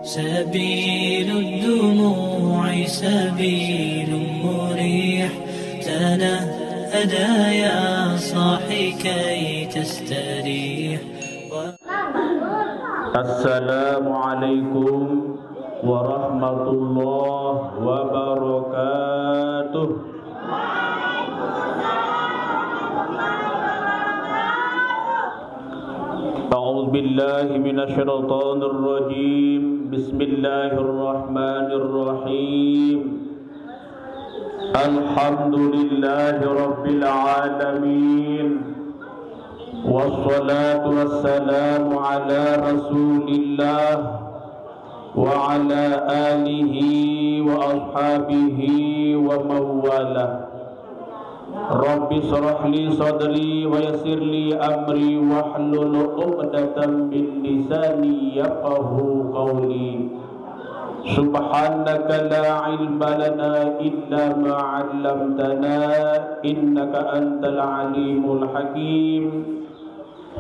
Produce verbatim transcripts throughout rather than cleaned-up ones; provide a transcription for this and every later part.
سبيل الدموع سبيل مريح، تنهدى يا صاحي كي تستريح. السلام عليكم ورحمة الله وبركاته. أعوذ بالله من الشيطان الرجيم. بسم الله الرحمن الرحيم. الحمد لله رب العالمين، والصلاة والسلام على رسول الله وعلى آله وأصحابه ومن والاه. رب اشرح لي صدري ويسر لي أمري واحلل عقدة من لساني يفقهوا قولي. سبحانك لا علم لنا إلا ما علمتنا إنك أنت العليم الحكيم.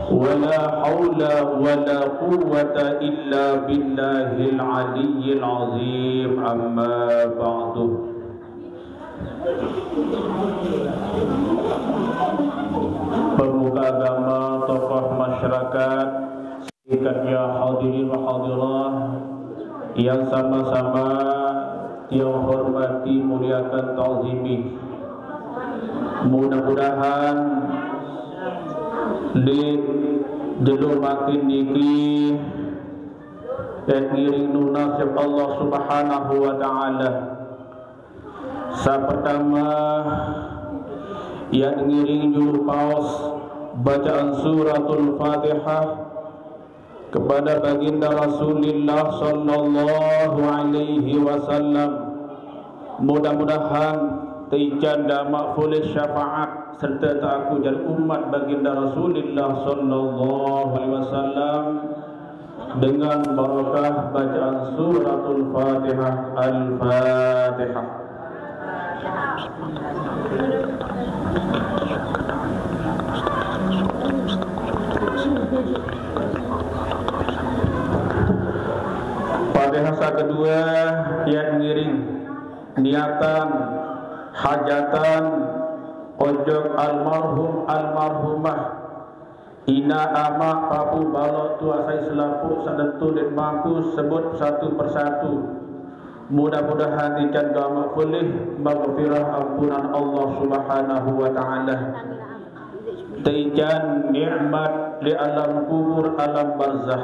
ولا حول ولا قوة إلا بالله العلي العظيم. أما بعد. Pemuka agama, tokoh masyarakat, ikannya hadirin wa hadirat yang sama-sama yang hormati, muliakan, ta'zimi. Mudah-mudahan di jelo makin niki, eh, ngiring nunas ya Allah Subhanahu wa Ta'ala. Sa pertama, ya ngiring julu paos bacaan Suratul Fatihah kepada Baginda Rasulullah sallallahu alaihi wasallam. Mudah-mudahan teican gamaq polih syafaat serta taaku jari umat Baginda Rasulullah sallallahu alaihi wasallam dengan barakah bacaan Suratul Fatihah. Al-Fatihah. Fatihah sa kedua, ya ngiring niatan hajatan ojok almarhum almarhumah Ina, amaq, papuq, baloq, tuaq sai selapuq saq nentu ndeq mampu sebut satu persatu. Mudah-mudahan ican gamaq polih maghfirah ampunan Allah Subhanahu wa Ta'ala. Teican nikmat leq alam kubur, alam barzah.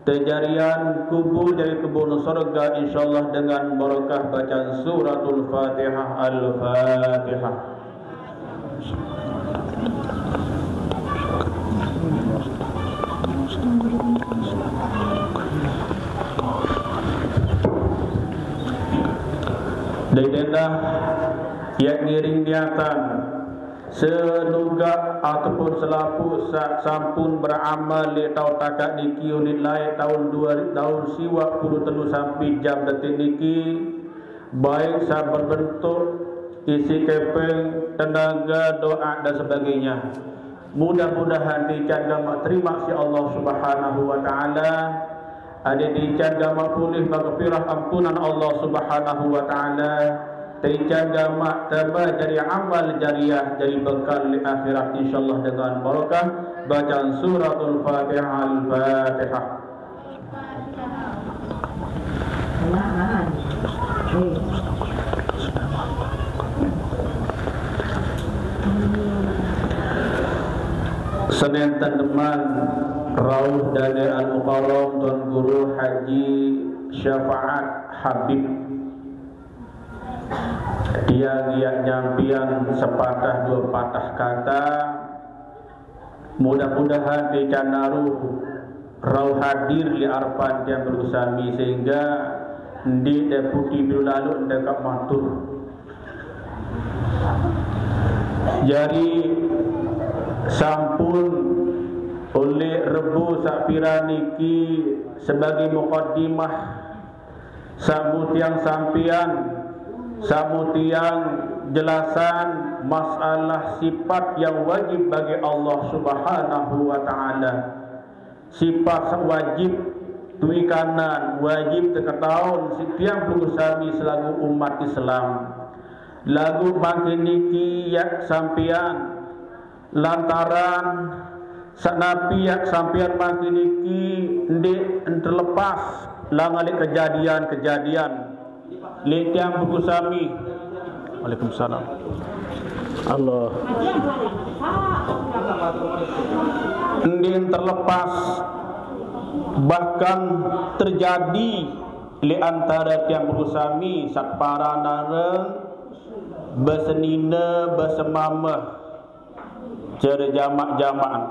Tejarian kubur jari kebun sorga, insyaallah, dengan barakah bacaan Suratul Fatihah. Al-Fatihah. Dait endah, ya ngiring niatan senugak ataupun selapuq saq sampun beramal leq taun takaq niki, unit laeq taun due, taun siwaq puluh telu sampai jam detik niki, baik saq berbentuk isi kepeng, tenaga, doa, dan sebagainya. Mudah-mudahan teican gamaq terimaq siq Allah Subhanahu wa Ta'ala. Adeq teican gamaq polih maghfirah ampunan Allah Subhanahu wa Ta'ala. Teican gamaq tambah jari amal jariah, jari bekal leq akhirat, insyaallah, dengan barakah bacaan Suratul Fatihah. Al-Fatihah. Senenten deman rauh dane Al-Mukarram Tuan Guru Haji Syafaat Habib. Tiang iaq nyampian sepatah due patah kata. Mudah-mudahan teican naru rauh hadir leq arepan tiang beruh sami, sehingga ndeq deputi biru laluq ndeq kaq matur. Jari sampun oleq Rebo saq piran niki sebagaiq mukaddimah, saq mutiang sampian, saq mutiang jelasan masalah sipat yang wajib bagi Allah Subhanahu wa Ta'ala. Sipat saq wajib Duwe kanan wajib teketaun siq tiang pelungguh sami selaku umat Islam. Laguq mangkin niki yaq sampean lantaran saq napi yaq sampean mangkin niki ndeq terlepas langan leq kejadian-kejadian leq tiang pelungguh sami. Waalaikumsalam. Allah. Ndeq terlepas, bahkan terjadi leq antare tiang pelungguh sami saq paran areng besenine besemame. Care jamaq-jamaqan.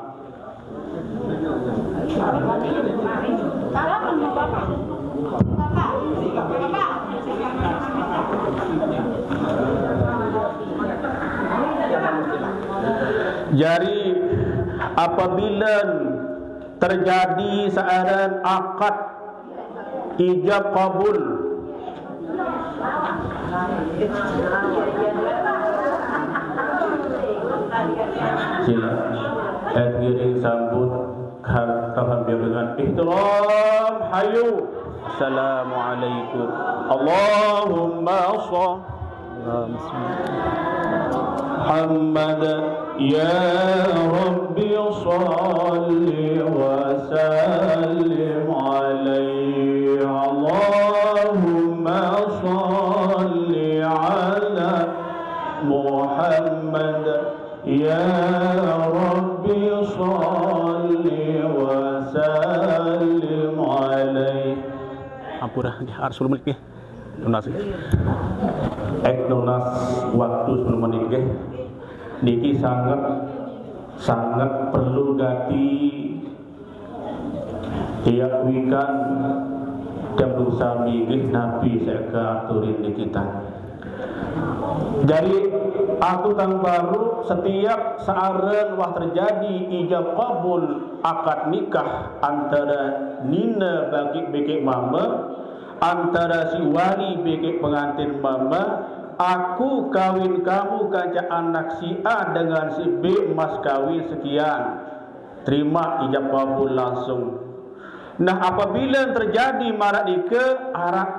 Jari, apabile terjadi saq aran akad ijab kabul. Sila. Eh, ngiring sambut ha-, tahun biar dengan ihtiram. Hayu. Assalamualaikum. Allahumma shalli Muhammad. Ya Rabbi, shalli wa sallim alaihi. Allahumma shalli ala Muhammad. Ya Rabbi, shalli wa sallim alaihi. Ampura, nggih, arep sepuluh menit, nggih. Nunas, nggih. Eh, nunas waktu sepuluh menit, nggih. Niki sanget, sanget perlu gati tiang wikan, tiang sami nggih napi saq katurin niki tan. Jari, aku tan baruq setiap saq aran wah terjadi ijab kabul akad nikah antare nine bagi bekeq mame, antare si wali bekeq pengantin mame, aku kawin kamu kance anak si A dengan si B, mas kawin sekian. Terimaq ijab kabul langsung. Nah, apabile terjadi maraq nike, araq,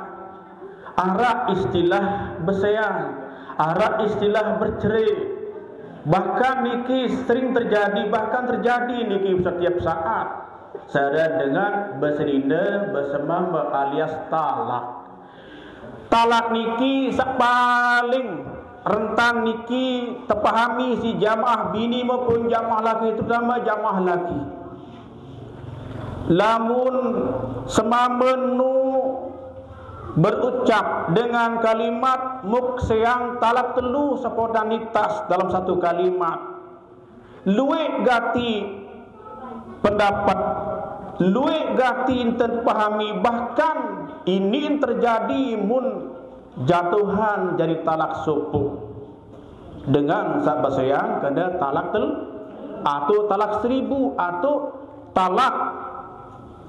araq istilah beseang, araq istilah bercerai. Bahkan niki sering terjadi, bahkan terjadi niki setiap saat. Sare dengan besenine, besemame alias talak. Talak niki saq paling rentan niki tepahami siq jamaah bini maupun jamaah laki, terutama jamaah laki. Lamun semame nu berucap dengan kalimat mukseang talak telu spontanitas dalam satu kalimat, lueq gati pendapet, lueq gati enten pahami, bahkan iniq terjadi mun jatuhan jari talak sopoq. Dengan saq beseang kene talak tel-, atau talak seribu, atau talak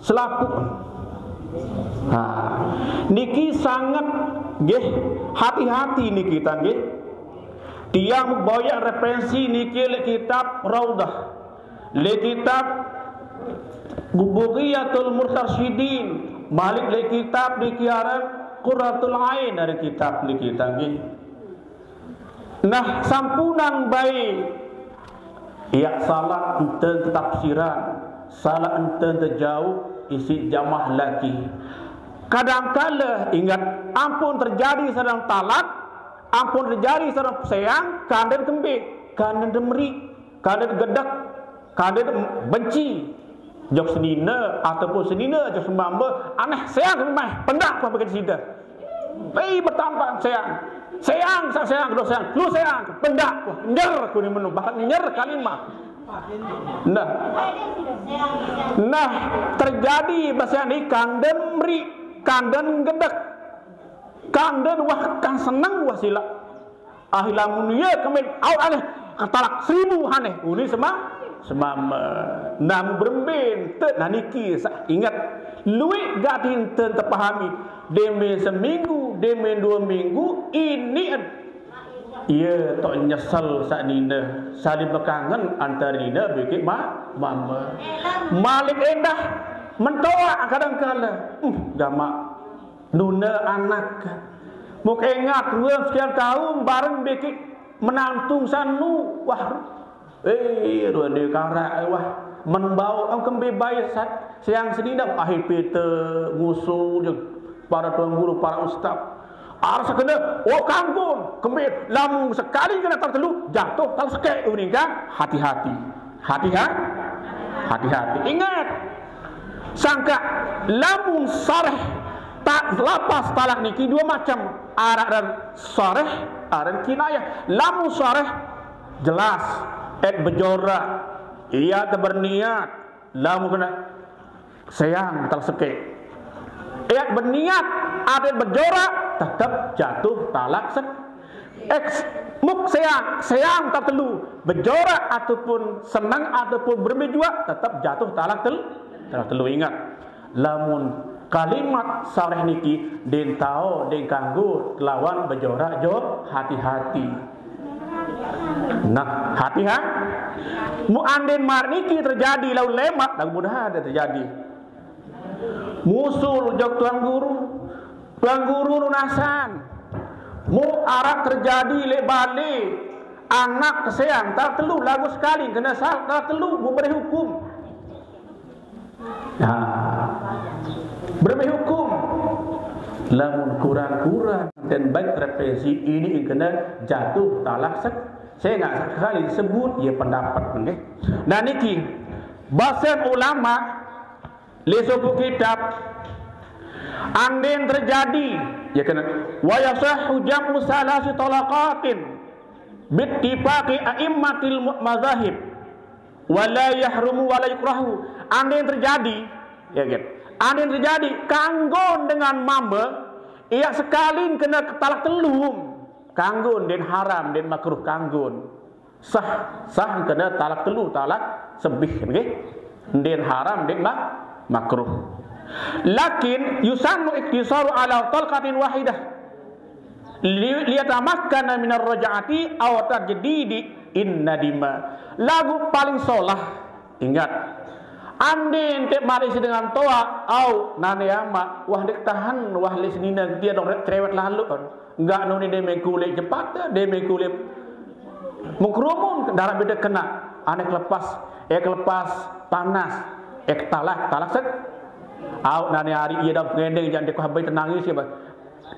selapuq. Nah, niki sanget nggih, hati-hati niki ta nggih. Tiang boyaq referensi niki leq kitab Raudhah, leq kitab Bughyatul Mustarsyidin, maliq leq kitab niki aran Qurratul Ain, aran kitab niki ta nggih. Nah, sampunang bae yaq salaq enten tetafsiran, salaq enten tejauq isiq jamaah laki. Kadang kala, inget, ampun terjadi sareng talak, ampun terjadi sareng peseang, kanden kembe, kanden demeri, kanden gedek, kanden benci. Jok senine ataupun senine jok semambe, aneh seang kembe, pendaq kuah bagi side. Pei bertampang seang. Seang, sa-, seang, kedua seang, telu seang, pendaq kuah, nyer kuni menu, bahkan nyer kalimat. Nah. Nah, terjadi bahasa ni kanden meri, kanden gedek, kanden wah kan seneng wah silaq. Ah, lamun ye kembe aut aneh, ketalak seribu aneh. Uni sema-, semame. Namu berembe ente, nah niki saq inget. Lueq gati enten tepahami. Deme seminggu, deme due minggu, iniq en. Ye toq nyesel saq nine. Saling bekangen antare nine bekeq ma-, mame. Maliq endah. Mentoa kadang kala, uh, gamaq nune anak. Muk engat ruang sekian taun bareng bikik menantung sanu. Wah, eh, ruang dia karak, eh, wah, menbau, em, kembe bae sat, siang senina, ahir pete, ngusul je para tuan guru, para ustaz. Arsa kena, oh, kanggun, kembe, lamun sekali kena tala telu, jatuh tala sekek, uning kan? Hati-hati. Hati-ha-, hati-hati. Ingat, sangka lamun sareh tak lapas talak niki dua macam. Araq dan sareh, araq dan kinayah. Lamun sareh jelas, et bejorak, ia te berniat, lamun kena sayang tala sekek. Et berniat, et bejorak, tetep jatuh talak sek-, Eks, muk sayang, sayang tala telu, bejorak ataupun senang ataupun berembe juaq, tetep jatuh talak tel-, talak telu. Ingat, lamun kalimat sareh niki den tao, den kanggo lawan bejorak jo, hati-hati. Nah, hati-ha-, mu anden mar niki terjadi laun lemaq, lagu mudahan terjadi. Musul jok tuan guru, tuan guru nunasan. Mu araq terjadi leq bale, anak keseang tala telu, laguq sekali kena sal-, tala telu, mu beri hukum. Nah, beri hukum. Lamun kurang-kurang dan baik represi ini kena jatuh talak sek-, saya nggak sekali sebut ya pendapat, nggih. Nah, niki, basen ulama, leq sopoq kitab, anden terjadi, ya kan, wa yasahhu jam'u salasi talaqatin bittifaqi a'immatil mu-, mazahib, wa la yahrumu wa la yukrahu. Anden terjadi, ya kan, anden terjadi kanggon dengan mame, ia sekalin kena talak telum, kanggon den haram, den makruh kanggon. Sah, sah kena talak telu, talak sebih, nggih. Ndeqn haram, ndeqn ma-, makruh. Lakin yusannu iktisaru ala talqatin wahidah. Li-, liyatamakkana minar raj'ati aw tajdidi in nadima. Laguq paling solah, ingat. Anden te marisi dengan toaq, au, nane amaq, wah, ndeq tahan, wah, leq senine, dia dong cerewet lalu. Nggak nuni deme kulit jepat, deme kulit mengkerumun, daraq bede kena, ane kelepas, eh, kelepas panas, eh, talak, talak sek. Au, nani hari ie dam pengendeng, jangan dekuah bai tenangis ya, bah.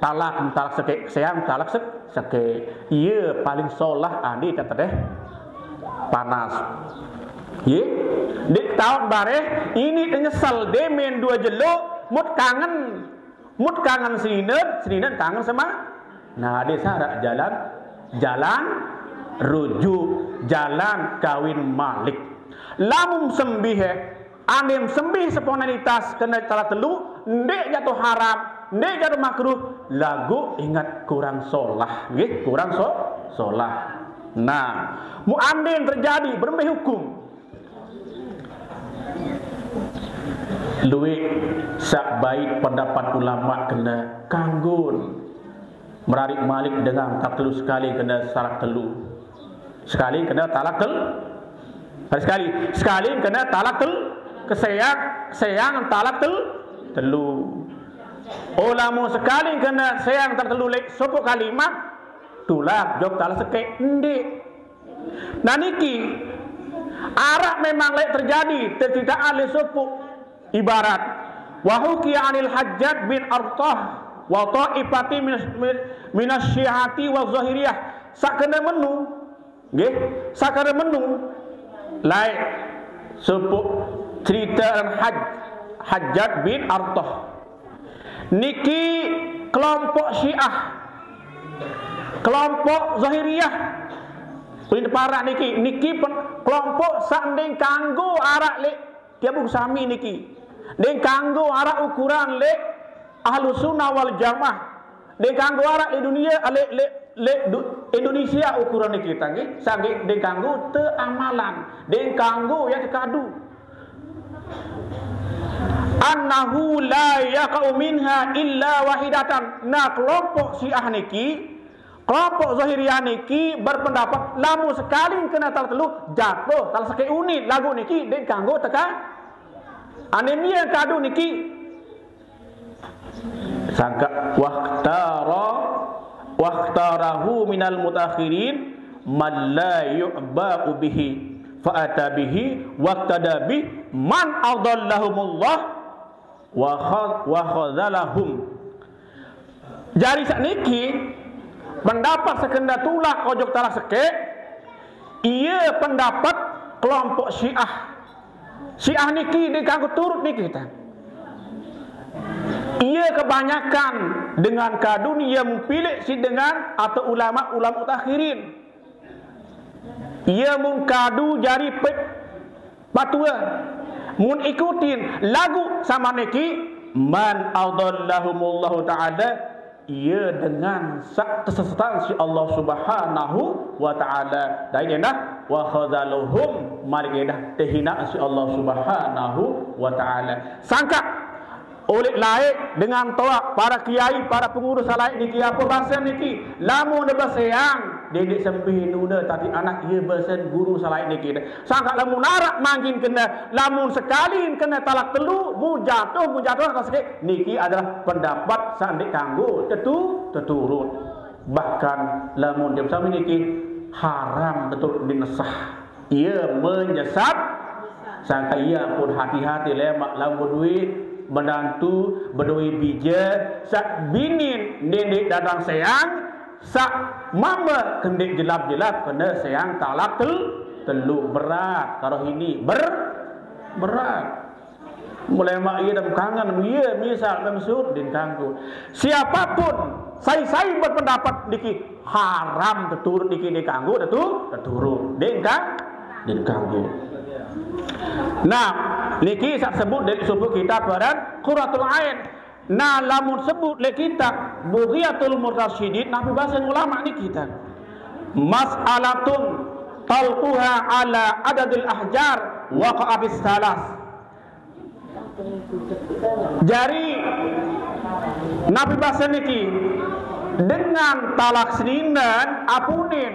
Talak, talak seke, seang, talak sek, seke. Ie paling solah andi tetedeh panas. Ye, dik taun bareh, ini nyesel demen dua jelo, mut kangen. Mut kangen seninen, seninen kangen sema. Nah, ade syarat jalan, jalan rujuk, jalan kawin malik. Lamun sembih, eh, andem sembih spontanitas kena talak telu, ndeq jatuh haram, ndeq jatuh makruh, laguq ingat kurang solah, nggih, kurang so-, solah. Nah, mu andem terjadi, berembe hukum? Lueq saq bait pendapat ulama kena kanggon merarik malik dengan talak telu, sekali kena talak telu. Sekali kena talak tel-, sekali, sekali kena talak tel-, keseang, seang talak tel-, telu. Oh, lamun sekali kena seang talak telu leq sopoq kalimat, tulak jok talak sekeq, ndeq. Nah, niki araq memang leq terjadi, terceritaan leq sopoq ibarat. Wa hukiya anil Hajjaj bin Artah wa taifati min, min, minas Syi'ati wa Zahiriyah. Saq kene menu, nggih, saq kene menu, laeq sopoq cerite Haj-, Hajjaj bin Artah. Niki kelompok Syiah, kelompok Zahiriyah. Ulin teparan niki, niki pen-, kelompok saq ndeq kanggo araq leq tiang buku sami niki. Ndeq kanggo araq ukuran leq Ahlus Sunnah wal Jamaah. Ndeq kanggo araq leq dunie, leq, leq, leq du-, Indonesia ukuran niki, tanggih, sanggih ndeq kanggo teamalan, ndeq kanggo ya tekadu. Annahu la yaqa'u minha illa wahidatan. Nah, kelompok Syiah niki, kelompok Zahiriyah niki berpendapat, lamun sekali kena talak telu, jatuh talak sekeq unit, laguq niki ndeq kanggo teka-, Anémia kadu niki sangka wakhtara wakhtarahu minal mutakhirin man la yu'ba'u bihi fa'ata bihi waqtada bih man adallahumullah wa kha- wa khadzalahum. Jari sakniki pendapat sekenda tulak ojok talak sekeq, iya pendapat kelompok Syiah. Syiah niki dikanggo turut niki ta. Iya kebanyakan dengan kadun iya mung pilik si dengan atau ulama-ulama mutakhirin. Iya mung kadu jari pet patua. Mun ikutin lagu sama niki, man adallahumullahu ta'ala, iya dengan sak kesesatan si Allah Subhanahu wa ta'ala. Dai endah wa khazaluhum, mari endah tehina si Allah Subhanahu wa ta'ala. Sangka oleh laik dengan toak para kiai, para pengurus laik niki apa basa niki? Lamun baseang, dendeq sempih nune tati anak iya basen guru salaik niki. Sangka lamun araq manggin kena, lamun sekali kena talak telu, mun jatuh, mun jatuh atas sekeq, niki adalah pendapat saq ndeq kanggo tetu teturut. Bahkan lamun dia sami niki haram betul dinesah. Ia menyesat. Sangka ia pun hati-hati lemaq lamun bedoe menantu, bedoe bije, saq binin ndeq datang seang, saq mame kendeq jelap-jelap kene seang talak tel-, telu. Berat karo ini ber-, berat. Mulai maq ie dem kangen, ie misal mem sut din kanggo. Siapapun sai-sai berpendapat niki haram teturut niki dikanggo tetu-, teturut. Din ka-, din kanggo. Nah, niki saq sebut dari sumber kitab baran Qurratul Ain. Nah, lamun sebut leq kitab Bughyatul Murtasyidin, napi base ulama niki ta. Mas'alatun talquha ala adadil ahjar waqa'atis salas. Jari, napi base niki? Dengan talak seninen apunin.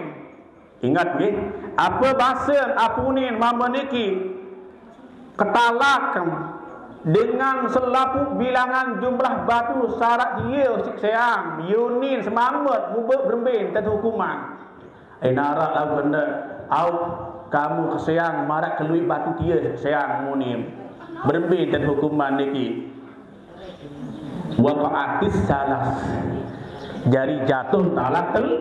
Ingat nggih, apa base apunin mame niki? Ketalak dengan selapuq bilangan jumlah batu saq araq tie siq seang, yunin semamet, mube berembe entan hukuman. Enaraq laun kene, au, kamu keseang maraq keluiq batu tie seang munim. Berembe entan hukuman niki? Waqa'atis salas. Jari jatuh talak tel-,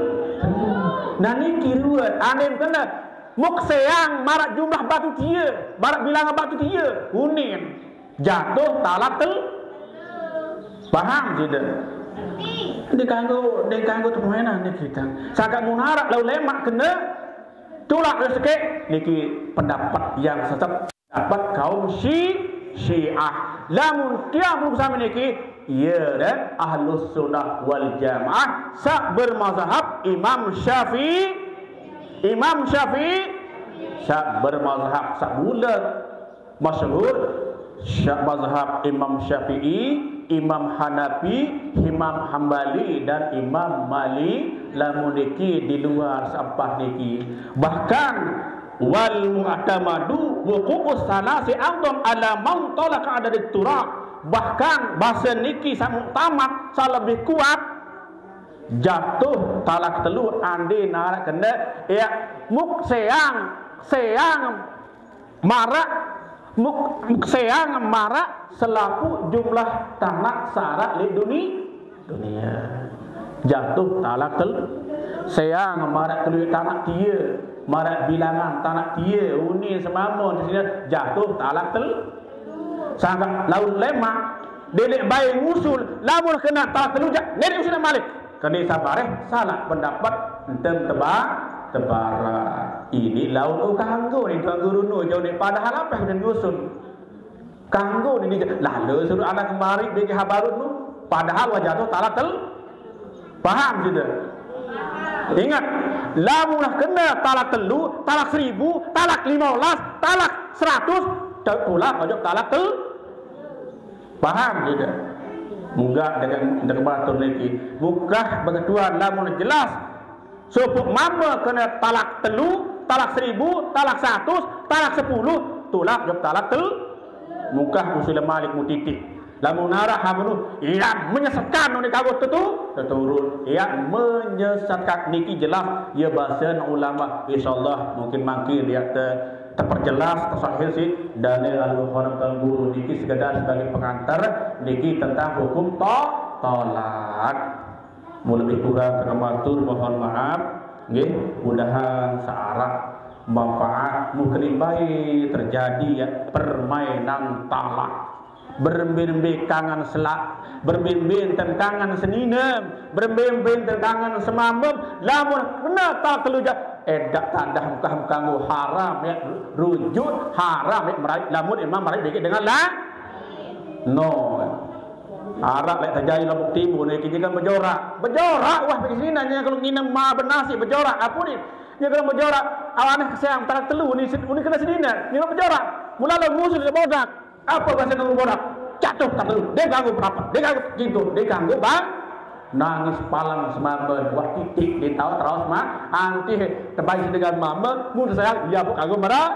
nah niki ruwet, anem kene. Muk seang maraq jumlah batu tie, maraq bilangan batu tie, unin. Jatuh talak tel-, paham side? Ndeq kanggo, ndeq kanggo temuenan niki ta. Sangkaq mun araq laun lemaq kene, tulak resekeq niki pendapat yang sesat, pendapat kaum Syi-, Syiah. Lamun tiang pelungguh sami niki, ie deh Ahlus Sunnah wal Jamaah saq bermazhab Imam Syafi'i, Imam Syafi'i saq bermazhab saq bulat. Masyhur, sya-, mazhab Imam Syafi'i, Imam Hanafi, Imam Hambali, dan Imam Malik, lamun niki di luar saq empat niki. Bahkan, wal mu'tamadu wuqu'us salasi a'dham ala man talaqa adadat turab. Bahkan, base niki saq muktamad, saq lebih kuat, jatuh talak telu ande naraq kene, ya, muk seang, seang maraq muk-, seang maraq selapuq jumlah tanaq saq araq leq duni-, dunie. Jatuh talak tel-, seang maraq keluiq tanaq tie, maraq bilangan tanaq tie, unin semame, sine jatuh talak tel-, sangkaq laun lemaq, dendeq bae ngusul, lamun kene talak telu jaq, ndeq usul malik. Kene sabareh salaq pendapat entem teba-, tebara. Ini laun kanggo ni Tuan Guru nu jauh ni padahal apeh udah nyusun. Kanggo ni dia, lalu suruh anak kemari bagi habarut nu, padahal wajah tu talak tel-, paham side? Ingat, lamun kene talak telu, talak seribu, talak lima belas, talak seratus, tulak wajib talak tel-, paham side? Munggah dengan, dengan batur niki. Mukah beketuan lamun jelas. Sopoq mame kene talak telu, talak seribu, talak seratus, talak sepuluh, tulak jok talak tel-, Mukah usul Malik mutitik. Lamun arah hamunu, ia menyesatkan ni kagok tetu, teturun. Ia menyesatkan niki jelas, ia bahasan ulama. Insyaallah mungkin mangkin ia te, terperjelas, tersahih sih. Dalil al-Bukhari dan guru niki sekedar sebagai pengantar, niki tentang hukum to, tolak. Mau lebih kurang kena matur mohon maaf. Nggih, mudahan searah manfaat, mungkin baik terjadi ya permainan talak. Berembe-rembe kangen selak, berembe-rembe tentang kangen seninem, berembe-rembe tentang kangen semamem, lamun kena tak keluja, edak tadah mukah-mukah nggo haram ya, rujuk haram ya, merai, lamun emang merai bikin dengan lah, no. Arak lek terjadi Lombok Timur ni, kita kan berjorak. Berjorak, wah, pergi sini nanya kalau nginem ma benasi berjorak. Apa ni? Dia kalau berjorak, awanah sayang tarak telu ni, ni kena sini ni. Dia berjorak. Mula lo ngusul dia bodak. Apa bahasa nunggu bodak? Jatuh tak telu. Dia ganggu berapa? Dia ganggu gitu. Dia ganggu bang. Nangis palang semamban. Wah, titik dia tahu terus mah. Anti terbaik dengan mama. Mun saya dia pun kagum marah.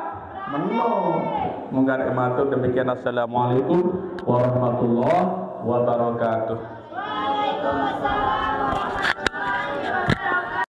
Menung. Mungkin matur demikian. Assalamualaikum warahmatullahi wabarakatuh.